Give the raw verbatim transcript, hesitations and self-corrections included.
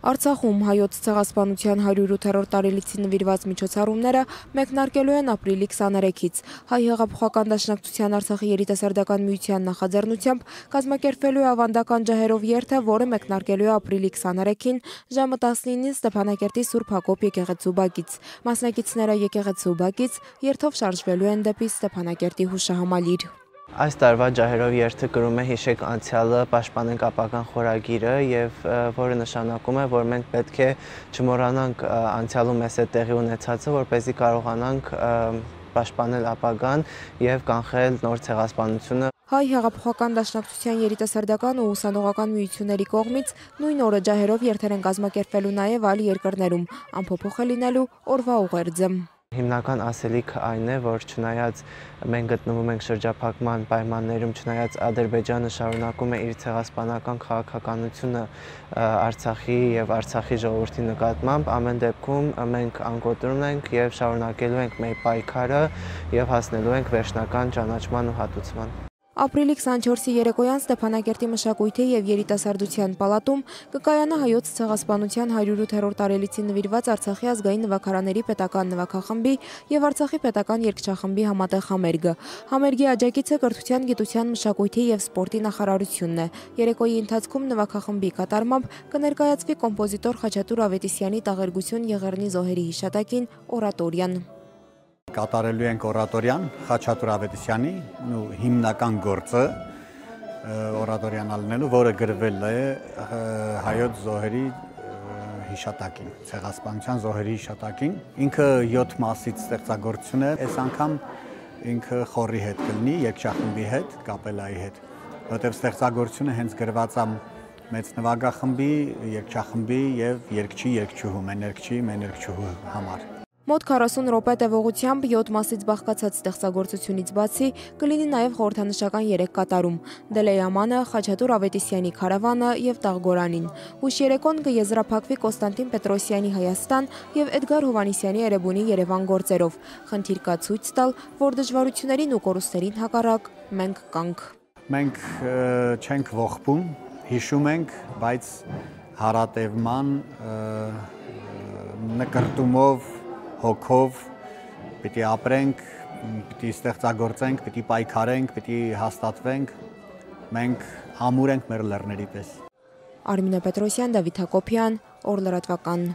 Արցախում հայոց ցեղասպանության հարյուրութերորդ տարելիցին նվիրված միջոցառումները մեկնարկելու են ապրիլի քսաներեքից։ Հայ հեղափոխական դաշնակցության Արցախի երիտասարդական միության նախաձեռնությամբ կազմակերպվելու է ավանդական ջահերով երթը, որը մեկնարկելու է ապրիլի քսաներեքին ժամը տասնինին Ստեփանակերտի Սուրբ Հակոբ եկեղեցու բակից։ Մասնակիցները եկեղեցու բակից երթով շարժվելու են դեպի Ստեփանակերտի հուշահամալիր։ Այս տարվա ջահերով երթը կրում է «Հիշեք անցյալը, պաշտպանենք ապագան» խորագիրը, եւ որը նշանակում է, որ մենք պետք է չմոռանանք անցյալում մեզ հետ տեղի ունեցածը, որպեսզի կարողանանք պաշտպանել ապագան եւ կանխել նոր ցեղասպանությունը։ Հայ հեղափոխական դաշնակցության երիտասարդական ու ուսանողական միությունների կողմից նույն օրը ջահերով երթեր են կազմակերպվելու նաեւ այլ երկրներում, ամփոփող է լինելու օրվա ուղերձը։ Հիմնական ասելիքը այն է, որ չնայած մենք գտնվում ենք շրջափակման պայմաններում, չնայած Ադրբեջանը շարունակում է իր ցեղասպանական քաղաքականությունը Արցախի եւ Արցախի ժողովրդի նկատմամբ, ամեն դեպքում մենք անկոտրում ենք եւ շարունակելու ենք մեր պայքարը եւ հասնելու ենք վերջնական ճանաչման ու հատուցման։ Ապրիլի քսանչորսի երեկոյան Ստեփանակերտի մշակույթի եւ երիտասարդության պալատում կկայանա հայոց ցեղասպանության հարյուրութերորդ տարելիցին նվիրված Արցախի ազգային նվագարաների պետական նվագախմբի եւ Արցախի պետական երգչախմբի համատեղ համերգը։ Համերգի աջակիցը կրթության, գիտության, մշակույթի եւ սպորտի նախարարությունն է։ Երեկոյի ընթացքում նվագախմբի կատարմամբ կներկայացվի կոմպոզիտոր Խաչատուր Ավետիսյանի «Տաղերգություն Եղեռնի զոհերի հիշատակին» օրատորիան։ Կատարելու ենք օրատորիան Խաչատուր Ավետիսյանի հիմնական գործը օրատորիան ալնելու, որը գրվել է հայոց զոհերի հիշատակին, ցեղասպանության զոհերի հիշատակին։ Ինքը յոթ մասից ստեղծագործություն է, այս անգամ ինքը խորի հետ կլինի, երգչախմբի հետ, կապելայի հետ, որտեղ ստեղծագործությունը հենց գրված է մեծ նվագախմբի, երգչախմբի եւ երգչի երգչուհու, մեներգչի, մեներգչուհու համար։ Մոտ քառասուն րոպե տևողությամբ յոթ մասից բաղկացած ստեղծագործությունից բացի կլինի նաև խորհրդանշական երեք կատարում՝ Դելեյամանը, Խաչատուր Ավետիսյանի Քարավանը եւ Տաղգորանին։ Հուշերեկոն կեզրափակվի Կոստանտին Պետրոսյանի Հայաստան եւ Էդգար Հովհաննիսյանի Էրեբունի Երևան գործերով։ Խնդիր կա ցույց տալ, որ դժվարություններին ու կորուստներին հակառակ մենք կանք։ Մենք չենք ողբում, հիշում ենք, բայց հարատևման նկարտումով հոգով պիտի ապրենք, պիտի ստեղծագործենք, պիտի պայքարենք, պիտի հաստատվենք, մենք ամուր ենք մեր լեռների պես։ Արմինե Պետրոսյան, Դավիթ Հակոբյան, Օր լրատվական։